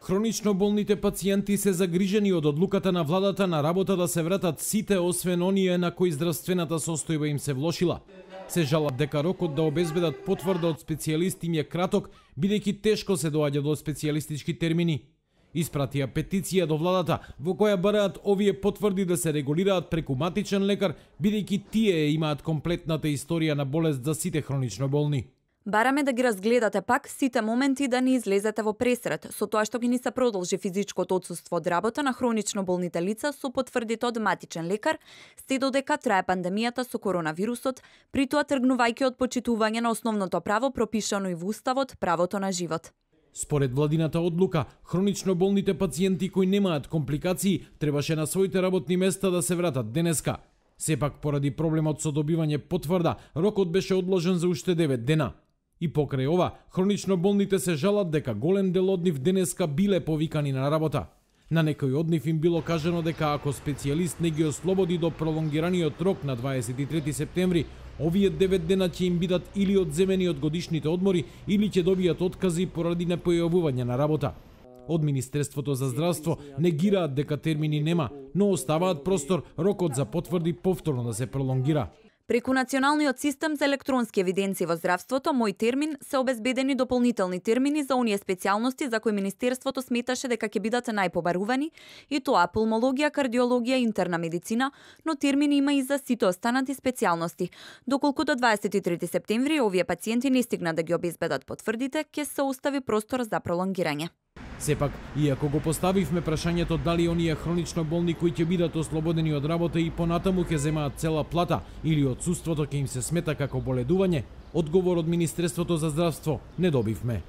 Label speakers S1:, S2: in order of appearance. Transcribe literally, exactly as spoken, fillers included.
S1: Хронично болните пациенти се загрижени од одлуката на владата на работа да се вратат сите освен оние на кои здравствената состојба им се влошила. Се жалат дека рокот да обезбедат потврда од специјалист им е краток, бидејќи тешко се доаѓа до специјалистички термини. Испратија петиција до владата во која бараат овие потврди да се регулираат преку матичен лекар, бидејќи тие имаат комплетната историја на болест за сите хронично болни.
S2: Бараме да ги разгледате пак сите моменти да не излезете во пресрет, со тоа што ги ни се продолжи физичкото отсуство од работа на хронично болните лица со потврдите од матичен лекар, сте додека трае пандемијата со коронавирусот, при тоа тргнувајќи од почитување на основното право пропишано и во Уставот, правото на живот.
S1: Според владината одлука, хронично болните пациенти кои немаат компликации требаше на своите работни места да се вратат денеска. Сепак, поради проблемот со добивање потврда, рокот беше одложен за уште девет дена. И покрај ова, хронично болните се жалат дека голем дел од нив денеска биле повикани на работа. На некој од нив им било кажано дека ако специјалист не ги ослободи до пролонгираниот рок на дваесет и трети септември, овие девет дена ќе им бидат или одземени од годишните одмори, или ќе добијат откази поради непојавување на работа. Од Министерството за здравство негираат дека термини нема, но оставаат простор рокот за потврди повторно да се пролонгира.
S2: Преку Националниот систем за електронски евиденции во здравството, Мој термин, се обезбедени дополнителни термини за оние специјалности за кои Министерството сметаше дека ќе бидат најпобарувани, и тоа пулмологија, кардиологија и интерна медицина, но термини има и за сите останати специјалности. Доколку до дваесет и трети септември овие пациенти не стигнат да ги обезбедат потврдите, ќе се остави простор за пролонгирање.
S1: Сепак, иако го поставивме прашањето дали оние хронично болни кои ќе бидат ослободени од работа и понатаму ќе земаат цела плата или отсуството ќе им се смета како боледување, одговор од Министерството за здравство не добивме.